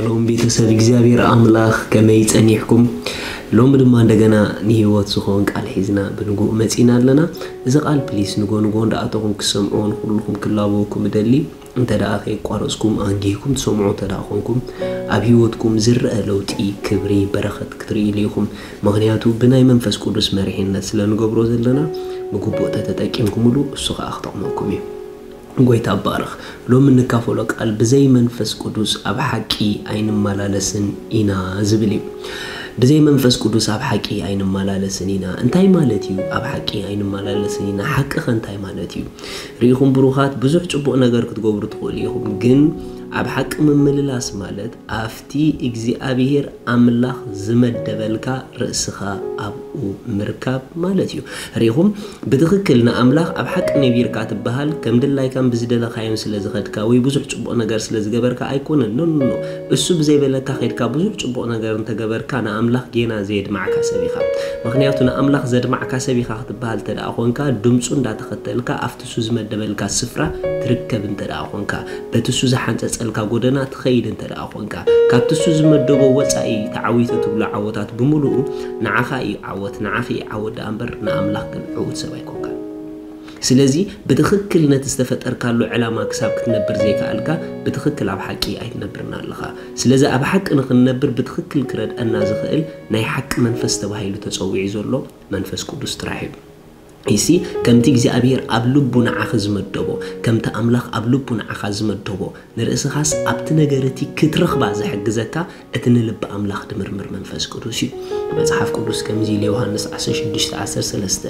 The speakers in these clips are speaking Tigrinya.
ሎም ቤተሰብ እግዚኣብሔር ኣምላኽ ከመይ ጸኒሕኩም? ሎሚ ድማ እንደገና ንህይወት ዝኾን ቃል ሒዝና ብንጉእ መጺና ኣለና። እዚ ቃል ፕሊስ ንጎ ንጎ እንዳኣተኹም ክሰምዑ ንኩልኹም ክላበወኩም እደሊ። እንተ ደኣ ከይቋረጽኩም ኣንጊህኩም ትሰምዑ እንተ ደኣ ኮንኩም ኣብ ህይወትኩም ዝረአ ለውጢ፣ ክብሪ፣ በረኸት ክትርእዩ ኢኹም። ምኽንያቱ ብናይ መንፈስ ቅዱስ መሪሕነት ስለ ንገብሮ ዘለና ብግቡእ ተተጠቂምኩምሉ እሱ ኸኣ ክጠቕመኩም እዩ። ጎይታ ባርኽ። ሎሚ እንካፈሎ ቃል ብዘይ መንፈስ ቅዱስ ኣብ ሓቂ ኣይንመላለስን ኢና ዝብል እዩ። ብዘይ መንፈስ ቅዱስ ኣብ ሓቂ ኣይንመላለስን ኢና እንታይ ማለት እዩ? ኣብ ሓቂ ኣይንመላለስን ኢና ሓቂ ኸ እንታይ ማለት እዩ? ርኢኹም ብሩኻት፣ ብዙሕ ጽቡቕ ነገር ክትገብሩ ትኽእሉ ኢኹም፣ ግን ኣብ ሓቂ ምምልላስ ማለት ኣብቲ እግዚኣብሔር ኣምላኽ ዝመደበልካ ርእስኻ ኣብኡ ምርካብ ማለት እዩ። ርኢኹም፣ ብትኽክል ንኣምላኽ ኣብ ሓቂ ነቢርካ ትበሃል፣ ከም ድላይካን ብዝደለኻዮን ስለ ዝኸድካ ወይ ብዙሕ ጽቡቕ ነገር ስለ ዝገበርካ ኣይኮነን። ኖ፣ ኖ፣ ኖ። እሱ ብዘይበለካ ኸድካ ብዙሕ ጽቡቕ ነገር እንተገበርካ ንኣምላኽ ጌና ዘየድማዕካ ሰብ ኢኻ። ምኽንያቱ ንኣምላኽ ዘድማዕካ ሰብ ኢኻ ክትበሃል እንተ ደኣ ኾንካ፣ ድምፁ እንዳተኸተልካ ኣብቲ እሱ ዝመደበልካ ስፍራ ትርከብ እንተ ደኣ ኾንካ፣ በቲ እሱ ዝሓንጸጸልካ ጎደና ትኸይድ እንተ ደኣ ኾንካ፣ ካብቲ እሱ ዝመደቦ ወጻኢ ተዓዊተ ትብሎ ዓወታት ብምሉኡ ንዓኻ እዩ ዓወት፣ ንዓኺ እዩ ዓወት ደኣ እምበር ንኣምላኽ ግን ዕዉት ሰብ ኣይኮንካን። ስለዚ ብትኽክል ነቲ ዝተፈጠርካሉ ዕላማ ክሳብ ክትነብር ዘይከኣልካ ብትኽክል ኣብ ሓቂ ኣይትነብርን ኣለኻ። ስለዚ ኣብ ሓቂ ንኽንነብር ብትኽክል ክረድአና ዝኽእል ናይ ሓቂ መንፈስ ተባሂሉ ተጸዊዑ ዘሎ መንፈስ ቅዱስ ጥራሕ እዩ። ይሲ ከምቲ እግዚኣብሔር ኣብ ልቡ ንዓኺ ዝመደቦ፣ ከምቲ ኣምላኽ ኣብ ልቡ ንዓኻ ዝመደቦ፣ ንርእስኻስ ኣብቲ ነገር እቲ ክትረኽባ ዝሕግዘካ እቲ ንልቢ ኣምላኽ ድምርምር መንፈስ ቅዱስ እዩ። መጽሓፍ ቅዱስ ከምዚ ኢሉ ዮሃንስ ዓሰርተ ሽዱሽተ ዓሰርተ ሰለስተ፣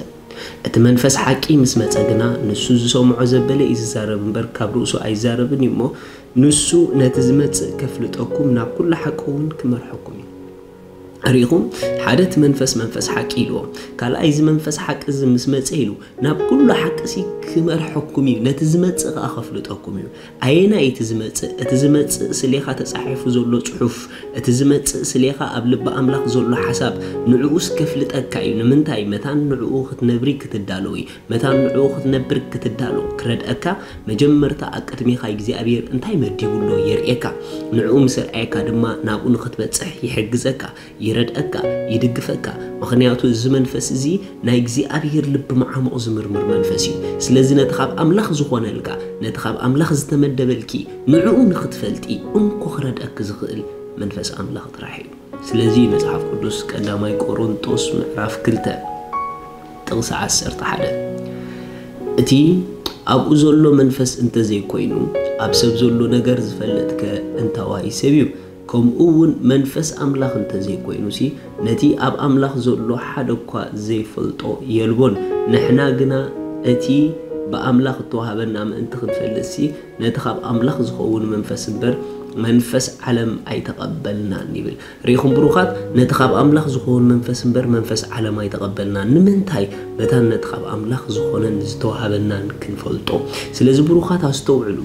እቲ መንፈስ ሓቂ ምስ መጸ ግና ንሱ ዝሰምዖ ዘበለ እዩ ዝዛረብ እምበር ካብ ርእሱ ኣይዛረብን እዩ እሞ፣ ንሱ ነቲ ዝመጽእ ከፍልጠኩም ናብ ኩሉ ሓቂ እውን ክመርሐኩም እዩ። ርኢኹም፣ ሓደ እቲ መንፈስ መንፈስ ሓቂ ኢልዎ፣ ካልኣይ እዚ መንፈስ ሓቂ እዚ ምስ መጸ ኢሉ ናብ ኩሉ ሓቂ ሲ ክመርሐኩም እዩ፣ ነቲ ዝመጽእ ከኣ ከፍልጠኩም እዩ። ኣየናይ እቲ ዝመጽእ? እቲ ዝመጽእ ስሌኻ ተጻሒፉ ዘሎ ጽሑፍ፣ እቲ ዝመጽእ ስሌኻ ኣብ ልቢ ኣምላኽ ዘሎ ሓሳብ፣ ንዕኡስ ከፍልጠካ እዩ። ንምንታይ? መታን ንዕኡ ክትነብሪ ክትዳለዊ፣ መታን ንዕኡ ክትነብር ክትዳሎ ክረድአካ፣ መጀመርታ ኣብ ቅድሜኻ እግዚኣብሔር እንታይ መዲቡ ኣሎ የርእየካ። ንዕኡ ምስ ኣርኣየካ ድማ ናብኡ ንኽትበጽሕ ይሕግዘካ፣ ይረድአካ፣ ይድግፈካ። ምኽንያቱ እዚ መንፈስ እዚ ናይ እግዚኣብሔር ልቢ መዓሙቕ ዝምርምር መንፈስ እዩ። ስለዚ ነቲ ካብ ኣምላኽ ዝኾነልካ፣ ነቲ ካብ ኣምላኽ ዝተመደበልኪ ንዕኡ ንኽትፈልጢ እንኮ ክረድአኪ ዝኽእል መንፈስ ኣምላኽ ጥራሕ እዩ። ስለዚ መጽሓፍ ቅዱስ ቀዳማይ ቆሮንጦስ ምዕራፍ ክልተ ጥቕሲ ዓሰርተ ሓደ፣ እቲ ኣብኡ ዘሎ መንፈስ እንተዘይኮይኑ፣ ኣብ ሰብ ዘሎ ነገር ዝፈልጥከ እንታዋይ ሰብ እዩ? ከምኡ እውን መንፈስ ኣምላኽ እንተዘይኮይኑሲ፣ ነቲ ኣብ ኣምላኽ ዘሎ ሓደ እኳ ዘይፈልጦ የልቦን። ንሕና ግና እቲ ብኣምላኽ እተዋህበና ምእንቲ ክንፈልጥሲ፣ ነቲ ካብ ኣምላኽ ዝኸውን መንፈስ እምበር መንፈስ ዓለም ኣይተቐበልናን ይብል። ርኢኹም ብሩኻት፣ ነቲ ካብ ኣምላኽ ዝኸውን መንፈስ እምበር መንፈስ ዓለም ኣይተቐበልናን። ንምንታይ? መታን ነቲ ካብ ኣምላኽ ዝኾነን ዝተዋህበናን ክንፈልጦ። ስለዚ ብሩኻት ኣስተውዕሉ።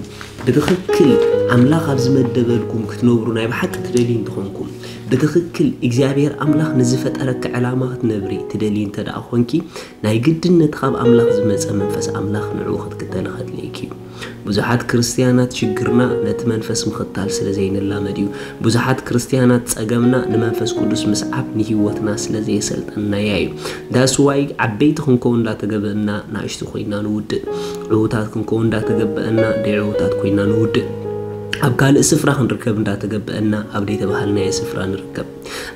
ብትኽክል ኣምላኽ ኣብ ዝመደበልኩም ክትነብሩ ናይ ብሓቂ ትደልዩ እንተኾንኩም፣ ብትኽክል እግዚኣብሔር ኣምላኽ ንዝፈጠረኪ ዕላማ ክትነብሪ ትደልዩ እንተ ደኣ ኾንኪ፣ ናይ ግድን ነቲ ካብ ኣምላኽ ዝመጸ መንፈስ ኣምላኽ ንዕኡ ክትክተሊ ከድልየኪ እዩ። ብዙሓት ክርስትያናት ሽግርና ነቲ መንፈስ ምኽታል ስለ ዘይንላመድ እዩ። ብዙሓት ክርስትያናት ጸገምና ንመንፈስ ቅዱስ ምስዓብ ንህይወትና ስለ ዘየሰልጠንናያ እዩ። That's why ዓበይቲ ክንከውን እንዳተገበእና ንኣሽቱ ኮይና ንውድእ። ዕዉታት ክንከውን እንዳተገበአና ደይ ዕዉታት ኮይና ንውድእ። ኣብ ካልእ ስፍራ ክንርከብ እንዳተገበአና ኣብ ደይተባሃልናዮ ስፍራ ንርከብ።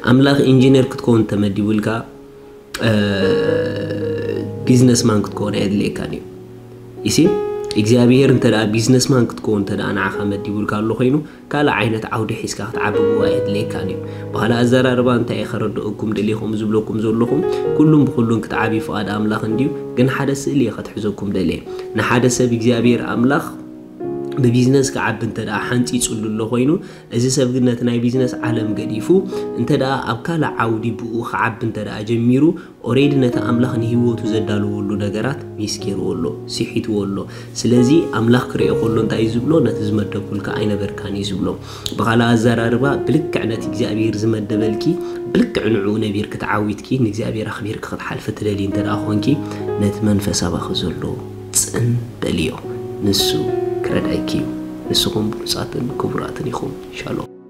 ኣምላኽ ኢንጂነር ክትከውን ተመዲቡልካ፣ እ፣ ቢዝነስማን ክትከውን ኣየድልየካን እዩ። ይሲ እግዚኣብሔር እንተ ደኣ ቢዝነስማን ክትከውን እንተ ደኣ ንዓኻ መዲቡልካ ኣሎ ኮይኑ፣ ካልእ ዓይነት ዓውዲ ሒዝካ ክትዓቢ ብኡ ኣየድልየካን እዩ። ብኻልእ ኣዘራርባ እንታይ እየ ከረድአኩም ደሊኹም ዝብለኩም ዘለኹም፣ ኩሉን ብኹሉን ክትዓቢ ፍቓድ ኣምላኽ እንድዩ፣ ግን ሓደ ስእሊ እየ ከትሕዘኩም ደልየ። ንሓደ ሰብ እግዚኣብሔር ኣምላኽ ብቢዝነስ ክዓቢ እንተ ደኣ ሓንጺጹሉ ኣሎ ኮይኑ፣ እዚ ሰብ ግን ነቲ ናይ ቢዝነስ ዓለም ገዲፉ እንተ ደኣ ኣብ ካልእ ዓውዲ ብኡ ክዓቢ እንተ ደኣ ጀሚሩ፣ ኦሬዲ ነቲ ኣምላኽ ንህይወቱ ዘዳለወሉ ነገራት ሚስ ገይርዎ ኣሎ፣ ስሒትዎ ኣሎ። ስለዚ ኣምላኽ ክርእዮ ከሎ እንታይ እዩ ዝብሎ? ነቲ ዝመደብኩልካ ኣይነበርካን እዩ ዝብሎ። ብኻልእ ኣዘራርባ፣ ብልክዕ ነቲ እግዚኣብሔር ዝመደበልኪ፣ ብልክዕ ንዕኡ ነቢርኪ ተዓዊትኪ፣ ንእግዚኣብሔር ኣኽቢርኪ ክትሓልፊ ትደልዪ እንተ ደኣ ኾንኪ፣ ነቲ መንፈስ ኣባኺ ዘሎ ጽን በልዮ። ንሱ ክረድኣኪ እዩ። ንስኹም ብሉጻትን ክቡራትን ኢኹም። ሻሎም።